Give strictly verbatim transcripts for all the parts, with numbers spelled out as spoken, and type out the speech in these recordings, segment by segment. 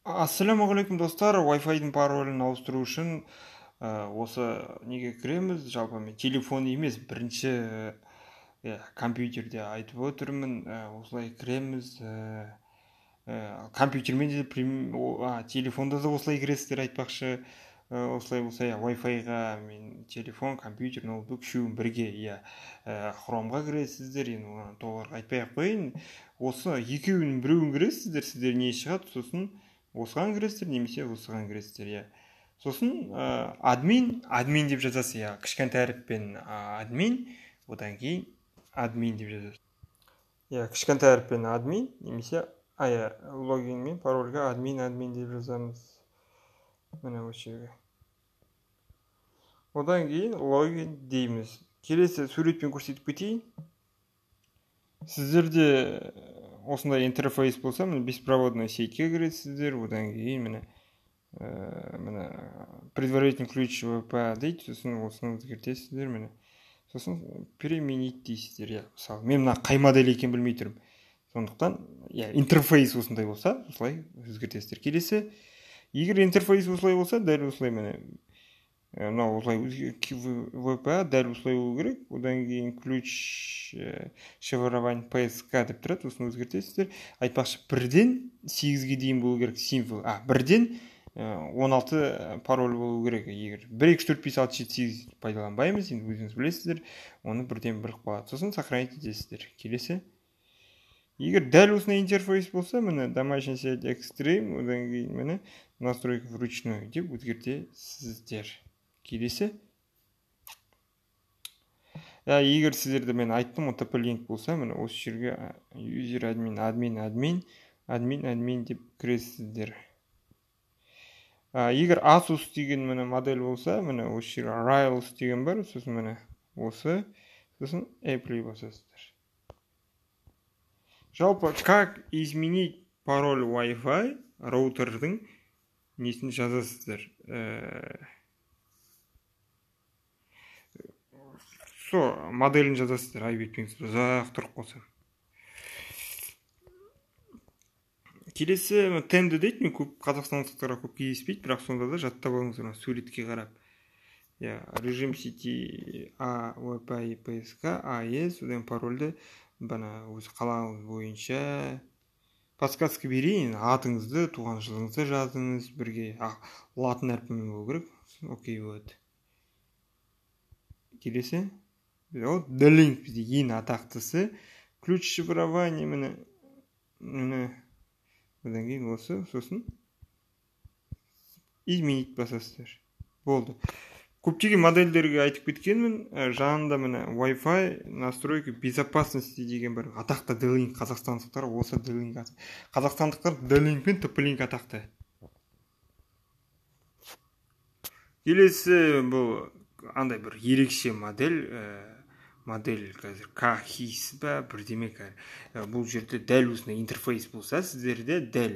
Ассалаумағалейкум достар, Wi-Fi-дің паролін ауыстыру үшін ә, осы неге кіреміз. Жалпы мен телефон емес, бірінші ә, компьютерде айтып отырмын. Ә, осылай кіреміз. Ә, ә, компьютермен де прим- о, а, телефонда да осылай кіресіздер айтпақшы. Ә, осылай болса, иә, Wi-Fi-ға мен телефон, компьютер, ноутбук үшеуін бірге, иә, ә, хромға кіресіздер. Енді оны толық айтпай ақ қояйын. Осы екеуінің біреуін кіресіздер, сіздер не шығады, сосын осыған кіресіздер немесе осыған кіресіздер, иә. Сосын ә, админ админ деп жазасыз, иә, кішкентай әріппен ә, админ, одан кейін админ деп жазасыз. Иә, кішкентай әріппен админ немесе ая логин мен парольға админ админ деп жазамыз. Міне осы жерге. Одан кейін логин дейміз. Келесі суретпен көрсетіп кетейін. Сіздерде осындай интерфейс болса, міне беспроводной сетьке кіресіздер. Одан кейін міне міне предварительный ключ вэ пэ дейді, сосын осыны өзгертесіздер. Міне сосын применить дейсіздер. иә, мысалы мен мына қай модель екенін білмей тұрмын, сондықтан иә, интерфейс осындай болса осылай өзгертесіздер. Келесі, егер интерфейс осылай болса, дәл осылай міне мынау осылай вэ пэ дәл осылай болу керек. Одан кейін ключ шифрование пэ эс ка деп тұрады, осыны өзгертесіздер. Айтпақшы, бірден сегізге дейін болу керек символ. А, бірден он алты пароль болу керек. Егер бір екі үш төрт бес алты жеті сегіз пайдаланбаймыз, енді өзіңіз білесіздер, оны бірден бір қалады. Сосын сохранить етесіздер. Келесі, егер дәл осындай интерфейс болса, міне домашний сеть экстрим, одан кейін міне настройка вручную деп өзгертесіздер. Келесі, егер сіздерде мен айттым, о тэ пэ линк болса, міне осы жерге user админ админ админ админ админ деп кіресіздер. Егер Asus деген міне модель болса, міне осы жерге Rails деген бар, сосын міне осы, сосын Apple басасыздар. Жалпы, как изменить пароль Wi-Fi роутердің несін жазасыздар. Со моделін жазасыздар, айбетпеңіз, ұзақ тұрып қалса. Келесі, тенді дейді, мен көп қазақстандықтарға көп кездеспейді, бірақ сонда да жаттап алыңыздар суретке қарап. Режим сети а вэ пэ пэ эс ка а эс, одан парольді бана өзі қалаңыз бойынша подсказка берейін. Атыңызды, туған жылыңызды жазыңыз бірге. Латын әрпімен болу керек. Окей болады. Келесі, D-Link бізде ең атақтысы. Ключ шифрование міне міне одан кейін осы, сосын изменить басасыздар. Болды. Көптеген модельдерге айтып кеткенмін. Жанында міне Wi-Fi настройка безопасности деген бар. Атақты D-Link. Қазақстандықтар осы D-Link. Қазақстандықтар D-Link пен тэ пэ линк атақты. Келесі, бұл андай бір ерекше модель. Модель қазір K-хис ба, бірдеме кәр. Бұл жерде дәл осындай интерфейс болса, сіздерде дәл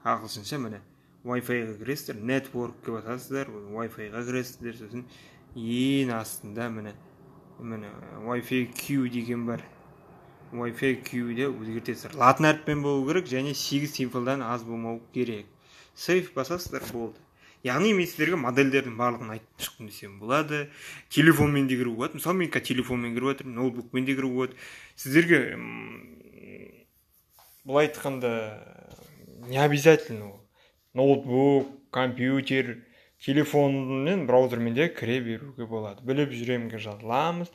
ағылшынша міне Wi-Fi-ға кіресіздер, network-ке басасыздар, Wi-Fi-ға кіресіздер, сосын ең астында міне міне Wi-Fi Q деген бар. Wi-Fi Q-де өзгертесіздер. Латын әріппен болу керек және сегіз символдан аз болмау керек. Save басасыздар, болды. Яғни мен сіздерге модельдердің барлығын айтып шықтым десем болады. Телефонмен де кіруге болады. Мысалы мен телефонмен кіріп отырмын, ноутбукпен де кіруге болады. Сіздерге былай айтқанда не обязательно ноутбук, компьютер, телефонмен, браузермен де кіре беруге болады. Біліп жүремге жазыламыз.